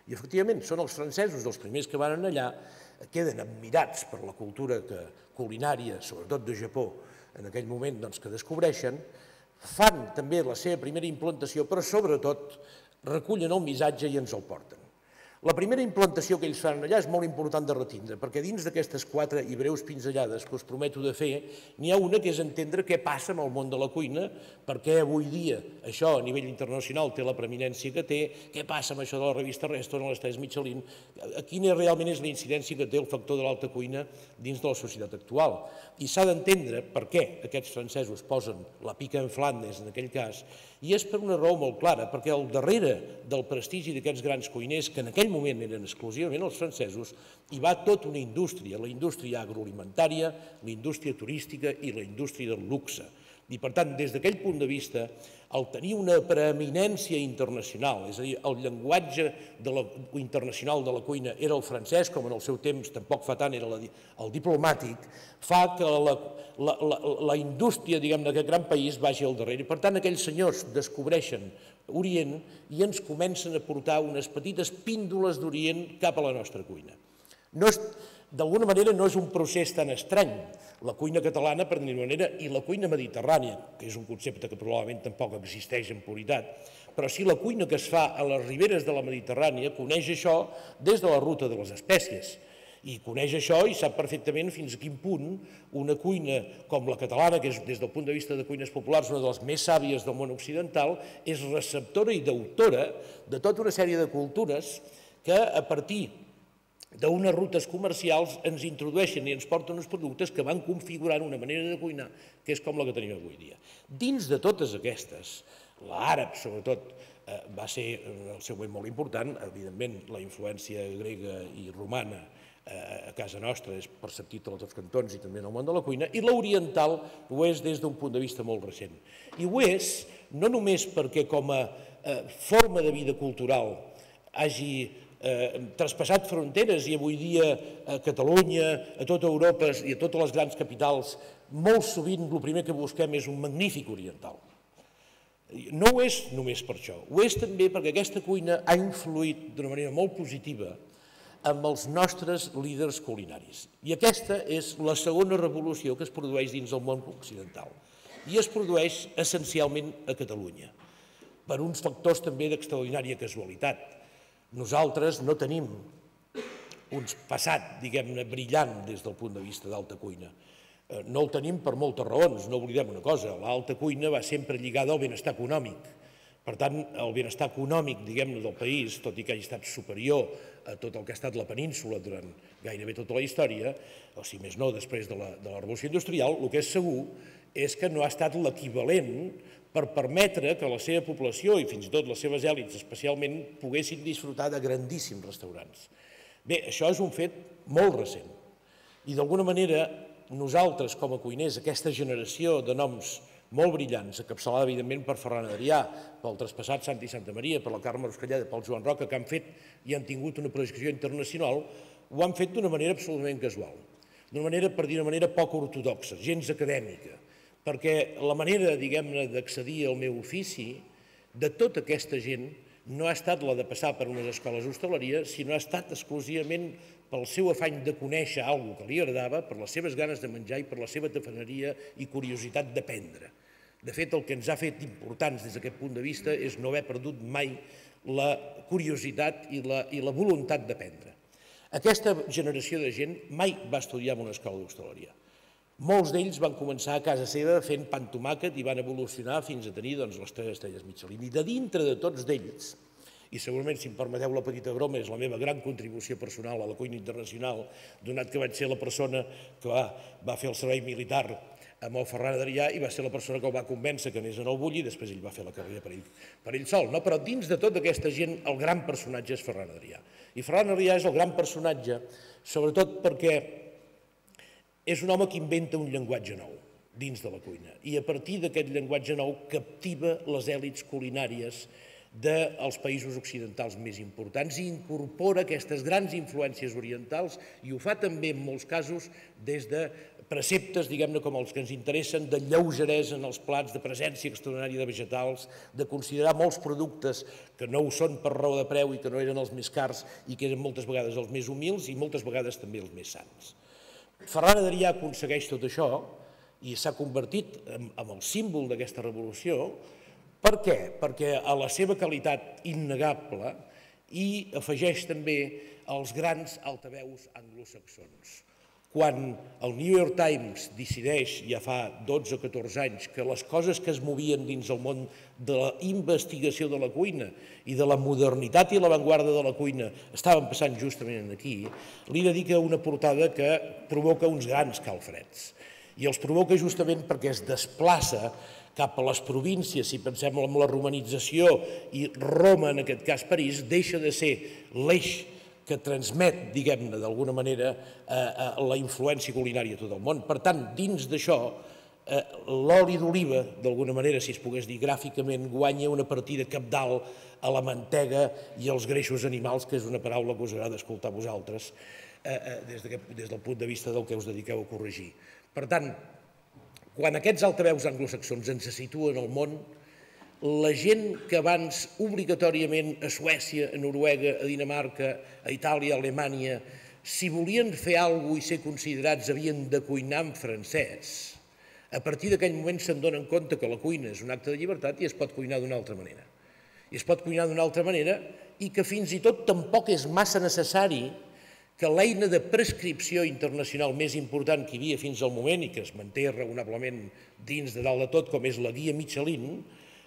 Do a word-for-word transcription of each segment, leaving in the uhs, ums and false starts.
I efectivament són els francesos dels primers que van allà, queden admirats per la cultura culinària, sobretot de Japó, en aquell moment que descobreixen, fan també la seva primera implantació, però sobretot recullen el missatge i ens el porten. La primera implantació que ells fan allà és molt important de retindre, perquè dins d'aquestes quatre i breus pinzellades que us prometo de fer, n'hi ha una que és entendre què passa en el món de la cuina, perquè avui dia això a nivell internacional té la preeminència que té, què passa amb això de la revista Restaurant, les tres Michelin, quina realment és la incidència que té el factor de l'alta cuina dins de la societat actual. I s'ha d'entendre per què aquests francesos posen la pica en Flandes en aquell cas, i és per una raó molt clara, perquè al darrere del prestigi d'aquests grans cuiners, que en aquell moment eren exclusivament els francesos, hi va tota una indústria, la indústria agroalimentària, la indústria turística i la indústria del luxe. I per tant, des d'aquell punt de vista, el tenir una preeminència internacional, és a dir, el llenguatge internacional de la cuina era el francès, com en el seu temps tampoc fa tant era el diplomàtic, fa que la indústria d'aquest gran país vagi al darrere. Per tant, aquells senyors descobreixen Orient i ens comencen a portar unes petites píndoles d'Orient cap a la nostra cuina. D'alguna manera no és un procés tan estrany, la cuina catalana, per dir-ho manera, i la cuina mediterrània, que és un concepte que probablement tampoc existeix en puritat, però sí la cuina que es fa a les riberes de la Mediterrània coneix això des de la ruta de les espècies. I coneix això i sap perfectament fins a quin punt una cuina com la catalana, que és des del punt de vista de cuines populars una de les més sàvies del món occidental, és receptora i d'autora de tota una sèrie de cultures que a partir d'unes rutes comercials ens introdueixen i ens porten uns productes que van configurant una manera de cuinar que és com la que tenim avui dia. Dins de totes aquestes, l'àrab sobretot va ser el seu moment molt important, evidentment la influència grega i romana a casa nostra és perceptit a tots els cantons i també en el món de la cuina, i l'oriental ho és des d'un punt de vista molt recent. I ho és no només perquè com a forma de vida cultural hagi traspassat fronteres i avui dia a Catalunya, a tota Europa i a totes les grans capitals, molt sovint el primer que busquem és un magnífic oriental. No ho és només per això, ho és també perquè aquesta cuina ha influït d'una manera molt positiva amb els nostres líders culinaris. I aquesta és la segona revolució que es produeix dins del món occidental. I es produeix essencialment a Catalunya, per uns factors també d'extraordinària casualitat. Nosaltres no tenim un passat, diguem-ne, brillant des del punt de vista d'alta cuina. No el tenim per moltes raons, no oblidem una cosa, l'alta cuina va sempre lligada al benestar econòmic. Per tant, el benestar econòmic, diguem-ne, del país, tot i que hagi estat superior a tot el que ha estat la península durant gairebé tota la història, o si més no després de la revolució industrial, el que és segur és que no ha estat l'equivalent per permetre que la seva població i fins i tot les seves èlits especialment poguessin disfrutar de grandíssims restaurants. Bé, això és un fet molt recent i d'alguna manera nosaltres com a cuiners, aquesta generació de noms molt brillants, encapçalada evidentment per Ferran Adrià, pel traspassat Santi Santamaria, per la Carme Ruscalleda, pel Joan Roca, que han fet i han tingut una projecció internacional, ho han fet d'una manera absolutament casual, d'una manera, per dir una manera, poc ortodoxa, gens acadèmica, perquè la manera, diguem-ne, d'accedir al meu ofici de tota aquesta gent no ha estat la de passar per unes escoles d'hostaleria, sinó ha estat exclusivament pel seu afany de conèixer alguna cosa que li agradava, per les seves ganes de menjar i per la seva tafaneria i curiositat d'aprendre. De fet, el que ens ha fet importants des d'aquest punt de vista és no haver perdut mai la curiositat i la voluntat d'aprendre. Aquesta generació de gent mai va estudiar en una escola d'hostaleria. Molts d'ells van començar a casa seva fent pa amb tomàquet i van evolucionar fins a tenir les tres estrelles Michelin. I de dintre de tots d'ells, i segurament, si em permeteu la petita broma, és la meva gran contribució personal a la cuina internacional, donat que vaig ser la persona que va fer el servei militar amb el Ferran Adrià i va ser la persona que el va convèncer que anés en el Bulli i després ell va fer la carrera per ell sol. Però dins de tota aquesta gent el gran personatge és Ferran Adrià. I Ferran Adrià és el gran personatge sobretot perquè és un home que inventa un llenguatge nou dins de la cuina i a partir d'aquest llenguatge nou captiva les èlits culinàries dels països occidentals més importants i incorpora aquestes grans influències orientals i ho fa també en molts casos des de preceptes, diguem-ne, com els que ens interessen, de lleugeresa en els plats, de presència extraordinària de vegetals, de considerar molts productes que no ho són per raó de preu i que no eren els més cars i que eren moltes vegades els més humils i moltes vegades també els més sants. Ferran Adrià aconsegueix tot això i s'ha convertit en el símbol d'aquesta revolució. Per què? Perquè a la seva qualitat innegable hi afegeix també els grans altaveus anglosaxons. Quan el New York Times decideix, ja fa dotze o catorze anys, que les coses que es movien dins el món de la investigació de la cuina i de la modernitat i l'avantguarda de la cuina estaven passant justament aquí, li dedica una portada que provoca uns grans calfreds. I els provoca justament perquè es desplaça cap a les províncies, si pensem en la romanització, i Roma, en aquest cas París, deixa de ser l'eix que transmet, diguem-ne, d'alguna manera, la influència culinària a tot el món. Per tant, dins d'això, l'oli d'oliva, d'alguna manera, si es pogués dir gràficament, guanya una partida cabdal a la mantega i als greixos animals, que és una paraula que us agrada escoltar a vosaltres, des del punt de vista del que us dediqueu a corregir. Per tant, quan aquests altaveus anglosaxons ens situen al món, la gent que abans obligatòriament a Suècia, a Noruega, a Dinamarca, a Itàlia, a Alemanya, si volien fer alguna cosa i ser considerats havien de cuinar en francès, a partir d'aquell moment se'n donen compte que la cuina és un acte de llibertat i es pot cuinar d'una altra manera. I es pot cuinar d'una altra manera i que fins i tot tampoc és massa necessari que l'eina de prescripció internacional més important que hi havia fins al moment i que es manté raonablement dins de dalt de tot, com és la guia Michelin,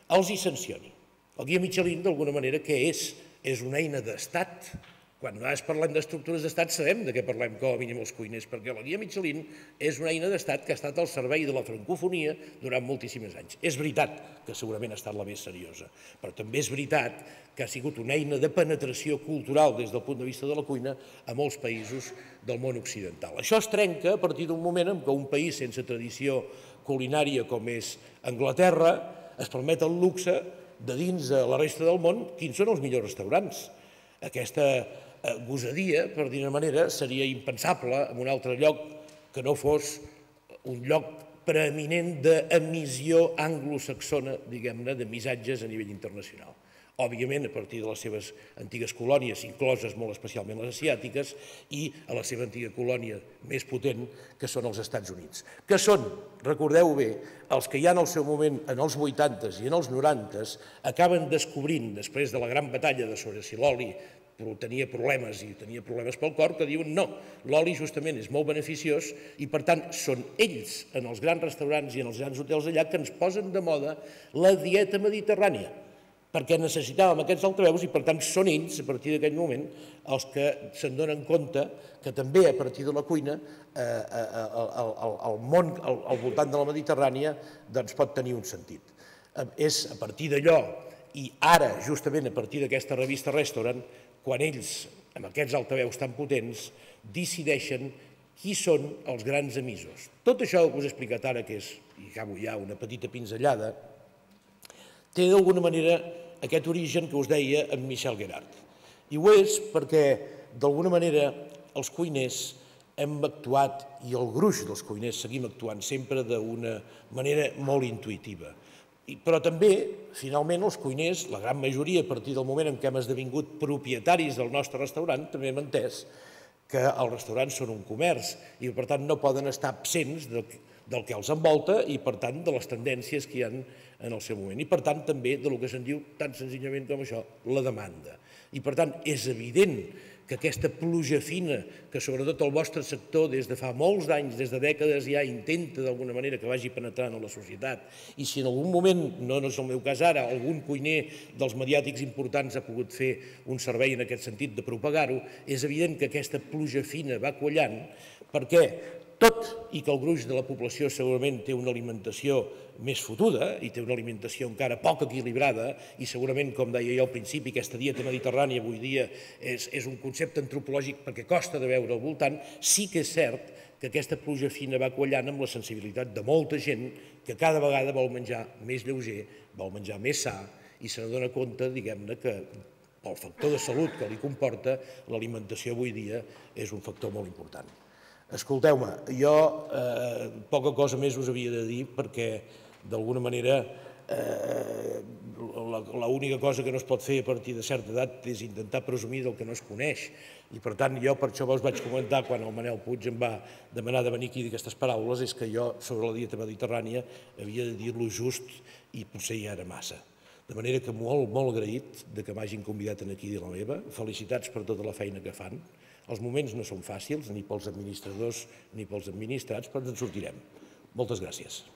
els hi sancioni. El guia Michelin, d'alguna manera, què és? És una eina d'estat. Quan a vegades parlem d'estructures d'estat sabem de què parlem, com a mínim els cuiners, perquè la guia Michelin és una eina d'estat que ha estat al servei de la francofonia durant moltíssims anys. És veritat que segurament ha estat la més seriosa, però també és veritat que ha sigut una eina de penetració cultural des del punt de vista de la cuina a molts països del món occidental. Això es trenca a partir d'un moment en què un país sense tradició culinària com és Anglaterra es permet el luxe de dins de la resta del món quins són els millors restaurants. Aquesta gosadia, per dir-ne manera, seria impensable en un altre lloc que no fos un lloc preeminent d'emissió anglosaxona, diguem-ne, de missatges a nivell internacional. Òbviament, a partir de les seves antigues colònies, incloses molt especialment les asiàtiques, i a la seva antiga colònia més potent, que són els Estats Units. Que són, recordeu bé, els que ja en el seu moment, en els vuitantes i en els norantes, acaben descobrint, després de la gran batalla de sobre si l'oli tenia problemes i tenia problemes pel cor, que diuen no, l'oli justament és molt beneficiós i per tant són ells en els grans restaurants i en els grans hotels allà que ens posen de moda la dieta mediterrània, perquè necessitàvem aquests altaveus i per tant són ells a partir d'aquell moment els que se'n donen compte que també a partir de la cuina el món al voltant de la Mediterrània pot tenir un sentit. És a partir d'allò i ara justament a partir d'aquesta revista Restaurant quan ells, amb aquests altaveus tan potents, decideixen qui són els grans emissors. Tot això que us he explicat ara, que és, i acabo ja, una petita pinzellada, té d'alguna manera aquest origen que us deia en Michel Guérard. I ho és perquè, d'alguna manera, els cuiners hem actuat, i el gruix dels cuiners seguim actuant sempre d'una manera molt intuïtiva. Però també, finalment, els cuiners, la gran majoria, a partir del moment en què hem esdevingut propietaris del nostre restaurant, també hem entès que els restaurants són un comerç i, per tant, no poden estar absents del que els envolta i, per tant, de les tendències que hi ha en el seu moment. I, per tant, també del que se'n diu tan senzillament com això, la demanda. I, per tant, és evident que aquesta pluja fina, que sobretot el vostre sector des de fa molts anys, des de dècades ja intenta d'alguna manera que vagi penetrant en la societat, i si en algun moment, no és el meu cas ara, algun cuiner dels mediàtics importants ha pogut fer un servei en aquest sentit de propagar-ho, és evident que aquesta pluja fina va quallant perquè tot i que el gruix de la població segurament té una alimentació més fotuda i té una alimentació encara poc equilibrada i segurament, com deia jo al principi, aquesta dieta mediterrània avui dia és un concepte antropològic perquè costa de veure al voltant, sí que és cert que aquesta pluja fina va quallant amb la sensibilitat de molta gent que cada vegada vol menjar més lleuger, vol menjar més sa i se n'adona compte, diguem-ne, que pel factor de salut que li comporta, l'alimentació avui dia és un factor molt important. Escolteu-me, jo poca cosa més us havia de dir perquè, d'alguna manera, l'única cosa que no es pot fer a partir de certa edat és intentar presumir del que no es coneix. I, per tant, jo per això vos vaig comentar, quan el Manel Puig em va demanar de venir aquí d'aquestes paraules, és que jo, sobre la dieta mediterrània, havia de dir-lo just i potser ja era massa. De manera que molt, molt agraït que m'hagin convidat aquí a dir la meva. Felicitats per tota la feina que fan. Els moments no són fàcils, ni pels administradors ni pels administrats, però ens en sortirem. Moltes gràcies.